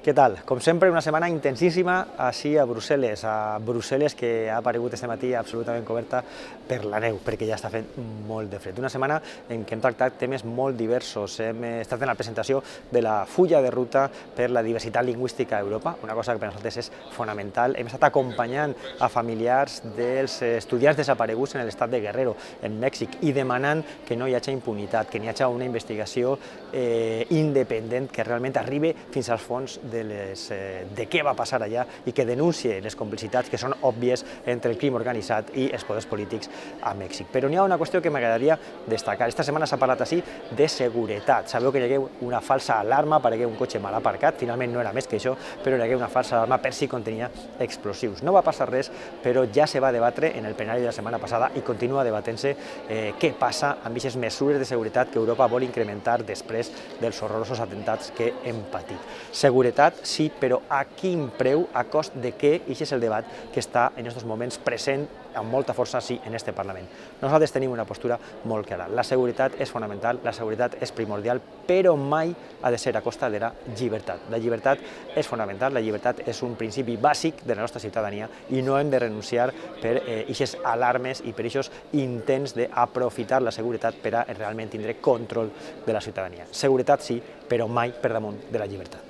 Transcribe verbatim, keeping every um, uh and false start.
Què tal? Com sempre, una setmana intensíssima així a Brussel·les, a Brussel·les que ha aparegut este matí absolutament coberta per la neu, perquè ja està fent molt de fred. Una setmana en què hem tractat temes molt diversos. Hem estat en la presentació de la fulla de ruta per la diversitat lingüística a Europa, una cosa que per nosaltres és fonamental. Hem estat acompanyant a familiars dels estudiants desapareguts en l'estat de Guerrero, en Mèxic, i demanant que no hi hagi impunitat, que n'hi hagi una investigació eh, independent que realment arribi fins als fons de, les, eh, de què va passar allà i que denuncie les complicitats que són òbvies entre el crim organitzat i els poders polítics a Mèxic. Però n'hi ha una qüestió que m'agradaria destacar. Esta setmana s'ha parlat així de seguretat. Sabeu que hi hagué una falsa alarma per hagué un cotxe mal aparcat, finalment no era més que això, però hi hagué una falsa alarma per si contenia explosius. No va passar res, però ja se va debatre en el plenari de la setmana passada i continua debatent-se eh, què passa amb aquestes mesures de seguretat que Europa vol incrementar després dels horrorosos atemptats que hem patit. Seguretat, sí, però a quin preu, a cost de què? I aquest és el debat que està en aquests moments present amb molta força sí en este Parlament. Nosaltres tenim una postura molt clara. La seguretat és fonamental, la seguretat és primordial, però mai ha de ser a costa de la llibertat. La llibertat és fonamental, la llibertat és un principi bàsic de la nostra ciutadania i no hem de renunciar per aquestes alarmes i per aquests intents d'aprofitar la seguretat per a realment tindre control de la ciutadania. Seguretat sí, però mai per damunt de la llibertat.